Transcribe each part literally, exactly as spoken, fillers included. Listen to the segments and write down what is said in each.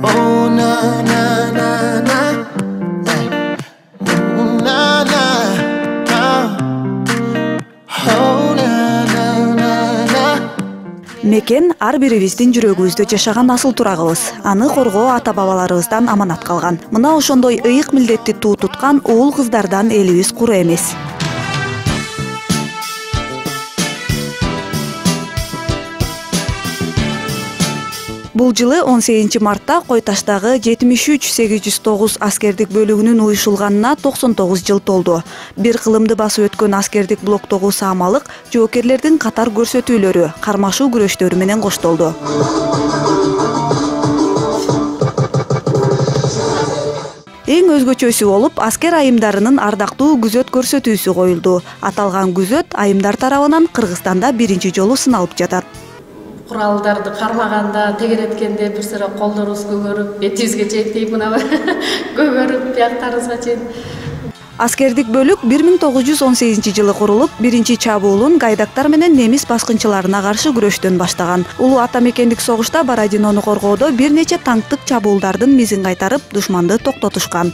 Oh na na na na, oh na na na, oh na na na na. Мекен ар бирибиздин жүрөгүбүздө жашаган асыл турагыбыз. Аны коргоо ата бабаларыбыздан аманат калган. Мына ошондой ыйык милдетти туу туткан уул кыздардан элибиз куру эмес. Бул жылы он сегизинчи мартта Кой Таштагы жетимиш үч сегиз жүз тогуз аскердик бөлүгүнүн уюшулганына токсон тогуз жыл толду. Бир кылымды басып өткөн аскердик блоктогу саамалык жоокерлердин катар көрсөтүүлөрү, кармашуу күрөштөрү менен коштолду. Эң өзгөчөсү болуп, аскер айымдарынын ардактуу күзөт көрсөтүүсү коюлду. Аталган күзөт айымдар тарабынан Кыргызстанда биринчи жолу сыналып жатат. Куралдарды кармаганда, тегереткенде бир сыра колдорубуз көгөрүп, бетибизге чейин тийип мына көгөрүп, бияктарыбызга чейин. Аскердик бөлүк бир миң тогуз жүз он сегизинчи жылы курулуп, биринчи чабуулун гайдактар менен немис баскынчыларына каршы күрөштөн баштаган. Улуу ата мекендик согушта Бородинону коргоодо бир нече танктык чабуулдардын мизин кайтарып, душманды токтотушкан.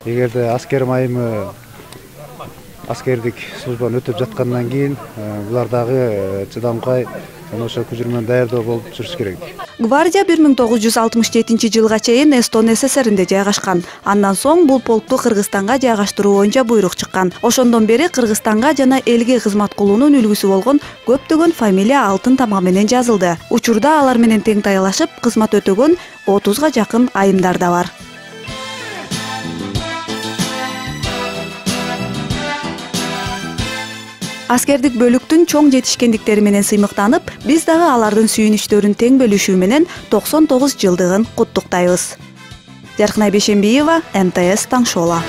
Эгерде аскер майымы аскердик службаны өтөп жаткандан кийин булар дагы чыдамкай ошо көчүрмөнү даярдоо болуп жүрүш керек. Гвардия бир миң тогуз жүз алтымыш жетинчи жылга чейин Эстон СССРинде жайгашкан. Андан соң бул полкту Кыргызстанга жайгаштыруу боюнча буйрук чыккан. Ошондон бери Кыргызстанга жана элге кызмат кылуунун үлгүсү болгон көптөгөн фамилия алтын тамга менен жазылды. Учурда алар менен тең таялашып кызмат өтөгөн отузга жакын айымдар да бар. Аскердик бөлүктүн чоң жетишкендиктери менен сыймыктанып, биз дагы алардын сүйүнүчтөрүн тең бөлүшүү менен токсон тогуз жылдыгын куттуктайбыз. Жаркынай Бейшембиева, М Т С Таң Шола.